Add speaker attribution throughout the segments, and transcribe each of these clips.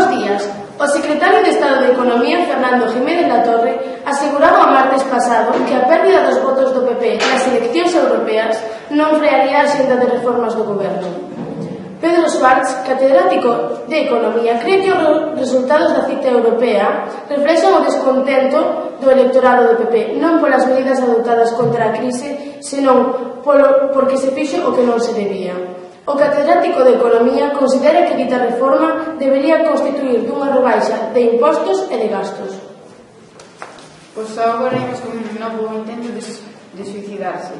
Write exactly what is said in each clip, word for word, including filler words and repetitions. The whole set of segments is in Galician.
Speaker 1: Bos días. O secretario de Estado de Economía, Fernando Jiménez Latorre, aseguraba o martes pasado que a pérdida dos votos do P P nas eleccións europeas non frearía a xenda de reformas do goberno. Pedro Schwartz, catedrático de Economía, cree que os resultados da cita europea reflexan o descontento do electorado do P P, non polas medidas adoptadas contra a crise, senón polo, porque se fixo o que non se debía. O catedrático de Economía considera que dita reforma debería constituir dunha rebaixa de impostos e de gastos.
Speaker 2: Pois agora imos con un novo intento de, de suicidarse.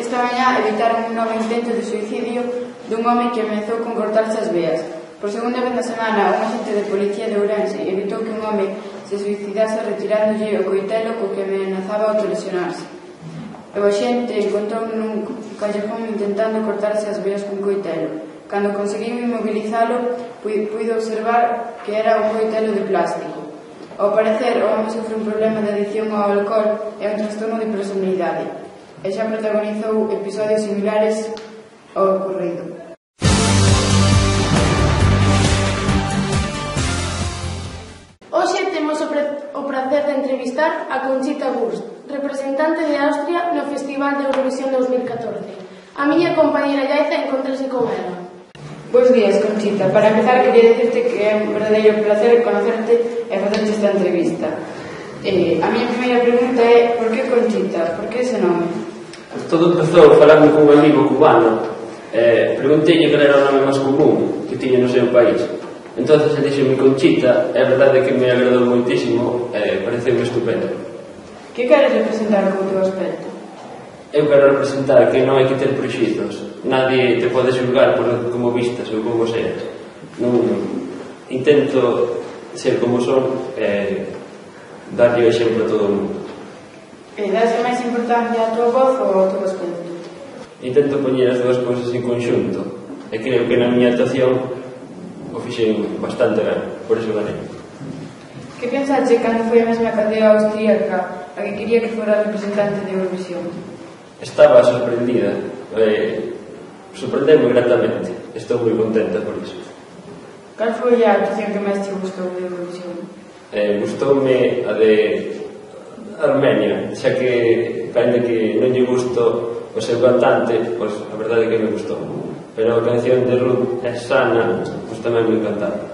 Speaker 2: Esta mañá evitaron un novo intento de suicidio dun home que ameazou con cortarse as veas. Por segunda vez na semana, un agente de policía de Ourense evitou que un home se suicidase retirándolle o coitelo co que amenazaba autolesionarse. E o xente encontrou nun callejón intentando cortarse as veas cun coitelo. Cando conseguiu inmobilizalo, puido observar que era un coitelo de plástico. Ao parecer, o home sofre un problema de adicción ao alcohol e un trastorno de personalidade, e xa protagonizou episodios similares ao ocorrido.
Speaker 1: Hoxe temos o, o prazer de entrevistar a Conchita Wurst, representante de Austria no Festival de Eurovisión dos mil catorce. A miña compañera Yaiza encontrase con ela.
Speaker 2: Bos días, Conchita. Para empezar, quería dicirte que é un verdadeiro placer conocerte e facerte esta entrevista. Eh, a miña primeira pregunta é: por que Conchita? Por que ese nome?
Speaker 3: Pues todo empezou falando con un amigo cubano. Eh, pregunteille que era o nome máis común que tiña no seu país. Entonces ele dixo-me Conchita, e a verdade é que me agradou moitísimo, e eh, pareceu-me estupendo.
Speaker 2: Que queres representar co teu aspecto?
Speaker 3: Eu quero representar que non hai que ter prexizos. Nadie te pode xulgar por como vistas ou como seas. Non, intento ser como son e darlle o exemplo a todo o mundo.
Speaker 2: E dás máis importancia a tua voz ou ao teu aspecto?
Speaker 3: Intento poñer as dúas cousas en conxunto e creo que na miña actuación o fixen bastante ben, por iso ganei.
Speaker 2: Que pensaste cando foi a mesma cadea austríaca a que quería que fora representante de Eurovisión?
Speaker 3: Estaba sorprendida, eh, sorprendeu-me gratamente. Estou moi contenta por iso.
Speaker 2: Cal foi a actuación que máis te gustou de Eurovisión?
Speaker 3: Eh, gustoume a de Armenia, xa que ainda que non lle gusto o seu cantante, pois a verdade é que me gustou. Pero a canción de Ruth é sana, pois tamén me encantaba.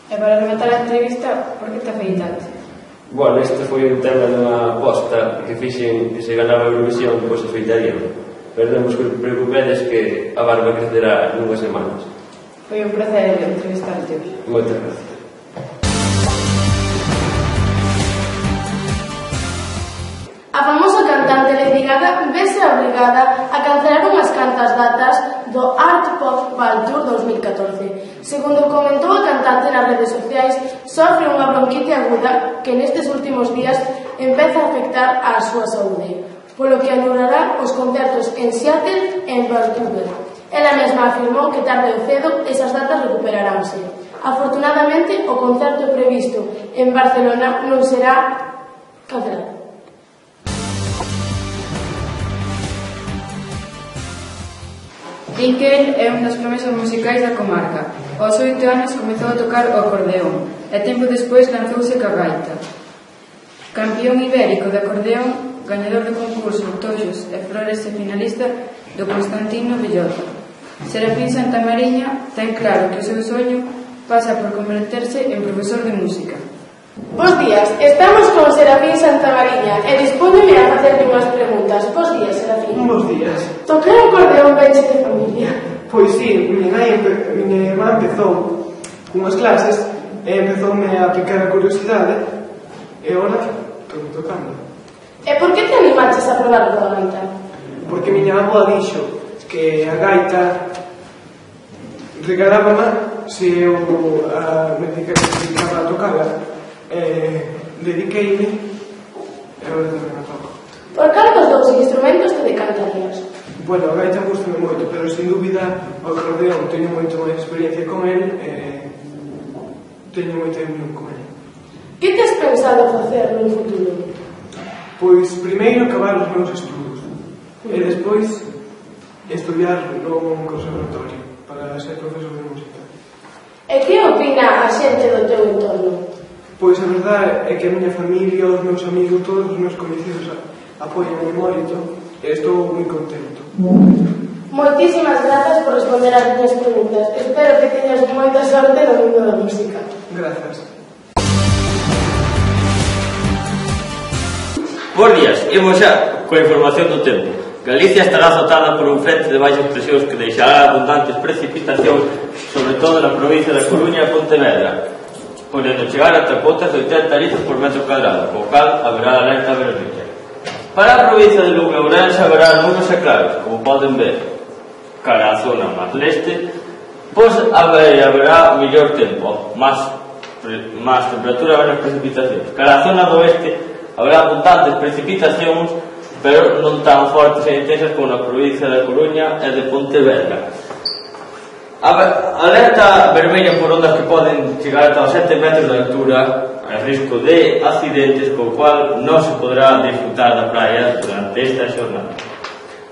Speaker 2: E para rematar a entrevista, por que te afeitaste?
Speaker 3: Bueno, este foi un tema dunha aposta que fixen que se ganaba a Eurovisión, pois afeitaría. Pero non vos preocupedes que a barba crecerá nunhas semanas.
Speaker 2: Foi un placer entrevistarte.
Speaker 3: Moitas gracias.
Speaker 1: A famosa cantante Lady Gaga vese obrigada a cancelar unhas cantas datas do Art Pop Ball Tour dos mil catorce. Segundo comentou a cantante nas redes sociais, sofre unha bronquite aguda que nestes últimos días empeza a afectar á súa saúde, polo que anulará os concertos en Seattle e en Vancouver. Ela mesma afirmou que tarde ou cedo esas datas recuperaránse. Afortunadamente, o concerto previsto en Barcelona non será cancelado.
Speaker 2: Iker é un das promesas musicais da comarca. Aos oito anos comezou a tocar o acordeón e tempo despois lanzouse ca gaita. Campión ibérico de acordeón, gañador do concurso Tojos e Flores e finalista do Constantino Bellota. Serafín Santamariña ten claro que o seu soño pasa por converterse en profesor de música.
Speaker 1: Bos días, estamos con Serafín Santamariña e dispóñome a facerle unhas preguntas. Bos días, Serafín.
Speaker 4: Bos días.
Speaker 1: Tocar o acordeón venche de familia?
Speaker 4: Pois sí, miña nai, miña irmá empezou cunhas clases e empezoume a picar a curiosidade e agora estou tocando.
Speaker 1: E por que te animaches a probar coa gaita?
Speaker 4: Porque miña avó dixo que a gaita regalábama se eu a, me dedicaba a tocarla. Eh, dediqueime e agora tamén a toco.
Speaker 1: Por cal dos dous instrumentos te decantarías?
Speaker 4: Bueno, a gaita gustame moito, pero sin dúbida o acordeón teño moito máis experiencia con el e teño moita unión con el.
Speaker 1: Que te has pensado facer no futuro?
Speaker 4: Pois primeiro acabar os meus estudos e despois estudiar no conservatorio para ser profesor de música.
Speaker 1: E que opina a xente do teu entorno?
Speaker 4: Pois a verdade é que a miña familia, os meus amigos, todos os meus conhecidos apoian o mérito e estou moi contento.
Speaker 1: Moitísimas grazas por responder as minhas preguntas. Espero que teñas moita sorte no mundo da música.
Speaker 4: Grazas.
Speaker 5: Bos días, imos xa coa información do tempo. Galicia estará azotada por un frente de baixas presións que deixará abundantes precipitacións, sobre todo na provincia da Coruña e Pontevedra, podendo chegar ata cotas de oitenta litros por metro cuadrado, co cal haberá alerta vermella. Para a provincia de Lugo e Ourense haberá nubes e claros, como poden ver. Cara á zona máis leste, pois haberá mellor tempo, máis, máis temperatura e menos precipitacións. Cara á zona do oeste haberá abundantes precipitacións, pero non tan fortes e intensas como na provincia da Coruña e de Pontevedra. Alerta vermella por ondas que poden chegar ata os sete metros de altura, a risco de accidentes, co cual non se poderá disfrutar da praia durante esta xornada.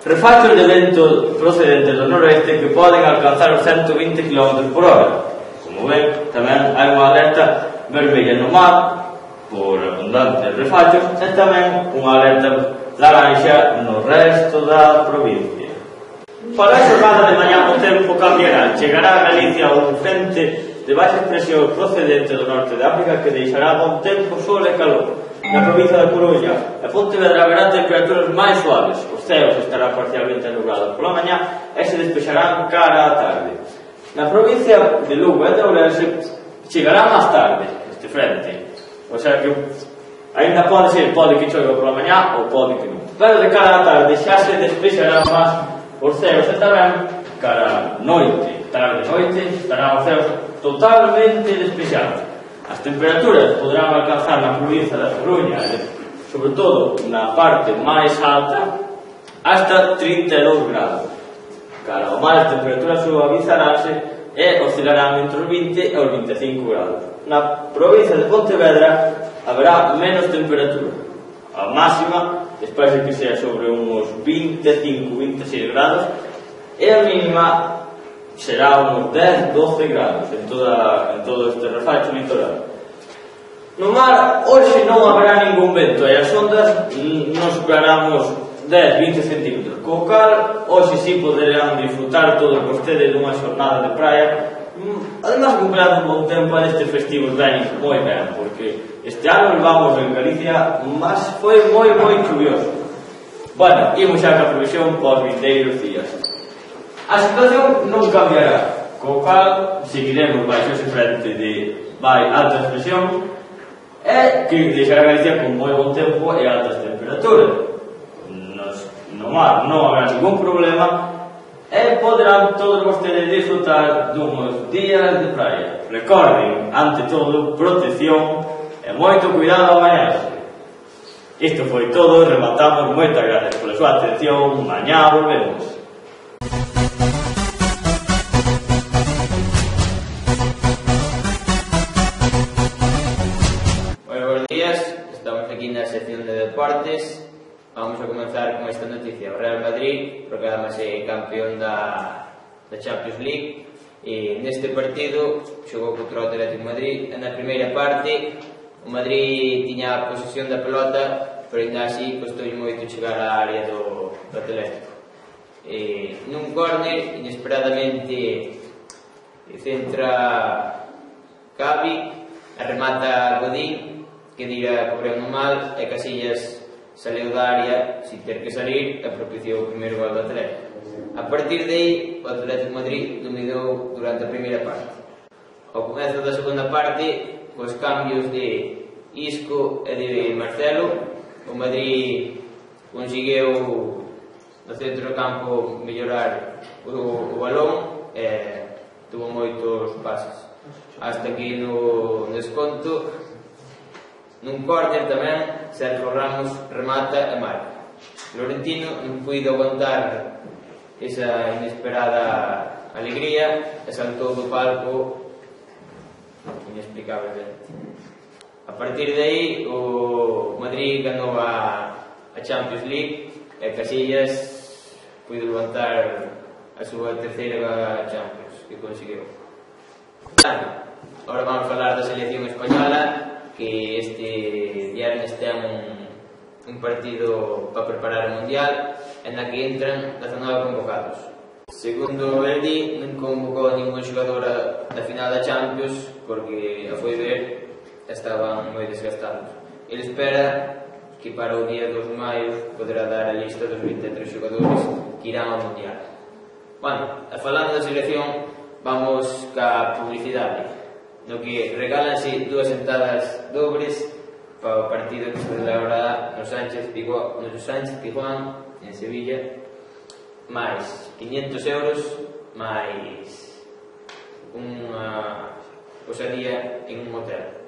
Speaker 5: Refachos de vento procedentes do noroeste que poden alcanzar os ciento vinte kilómetros por hora. Como ven, tamén hai unha alerta vermella no mar por abundantes refachos e tamén unha alerta laranxa no resto da provincia. Para a xornada de mañá o tempo cambiará. Chegará a Galicia un frente de baixa presión procedente do norte de África que deixará bon tempo, sol e calor. Na provincia da Coruña e Pontevedra haberá temperaturas máis suaves. Os ceos estará parcialmente nublados pola mañá e se despexarán cara á tarde. Na provincia de Lugo e de Ourense chegará máis tarde este frente. O sea que ainda pode ser, pode que chove pola mañá ou pode que non. Pero de cara á tarde xa se despexará máis os ceos e tamén cara á noite. Tarde e noite estarán os ceos totalmente despexados. As temperaturas poderán alcanzar na provincia da Coruña, sobre todo na parte máis alta, hasta trinta e dous grados. Cara ao mar, as temperaturas suavizaránse e oscilarán entre os vinte e os vinte e cinco grados. Na provincia de Pontevedra haberá menos temperatura. A máxima, despois de que sea sobre uns vinte e cinco a vinte e seis grados, e a mínima será uns dez a doce grados en, toda, en todo este refacho litoral. No mar, hoxe non haberá ningún vento e as ondas non superaramos dez a vinte centímetros, co cal hoxe sí poderán disfrutar todos vostedes dunha xornada de praia. Además, comprando un bon tempo nestes festivos ben moi ben, porque este ano levamos en Galicia, mas foi moi moi chuvioso. Bueno, imos xa ca previsión pos vindeiros días. A situación non cambiará, co cal seguiremos baixo ese frente de vai alta presión e que deixará Galicia con moi bon tempo e altas temperaturas. Nos, no mar non habrá ningún problema e poderán todos vostedes disfrutar dunhos días de praia. Recorden, ante todo, protección e moito cuidado ao bañarse. Isto foi todo, rematamos, moitas gracias pola súa atención, mañá volvemos.
Speaker 6: Estamos aquí na sección de deportes. Vamos a comenzar con esta noticia. O Real Madrid proclámase campeón da, da Champions League e neste partido xogou contra o Atlético de Madrid. Na primeira parte o Madrid tiña a posesión da pelota, pero ainda así costoulle moito chegar á área do, do Atlético. E nun córner, inesperadamente centra Gavi, remata Godín, que dira cobreu no mal e Casillas saleu da área sin ter que salir e propiciou o primeiro gol do Atlético. A partir de aí, o Atlético de Madrid dominou durante a primeira parte. Ao comezo da segunda parte, cos cambios de Isco e de Marcelo, o Madrid conseguiu no centro do campo mellorar o, o balón e tuvo moitos pases. Hasta que no desconto, nun córner tamén, Sergio Ramos remata e marca. Florentino non puido aguantar esa inesperada alegría e saltou do palco inexplicablemente. A partir de aí, o Madrid ganou a, a Champions League e Casillas puido levantar a súa terceira Champions que conseguiu. Ahora vamos a falar da selección española, que este viernes ten un, un partido para preparar o Mundial, en la que entran dezanove convocados. Segundo el di, non convocou a ningún xogador da final da Champions, porque a foi ver, estaban moi desgastados. Ele espera que para o día dos de maio poderá dar a lista dos vinte e tres xogadores que irán ao Mundial. Bueno, falando da selección, vamos ca publicidade, no que regálanse dúas entradas dobles para o partido que se celebrará no Sánchez Pizjuán, no Sánchez Pizjuán en Sevilla, máis quinhentos euros, máis unha posadía en un hotel.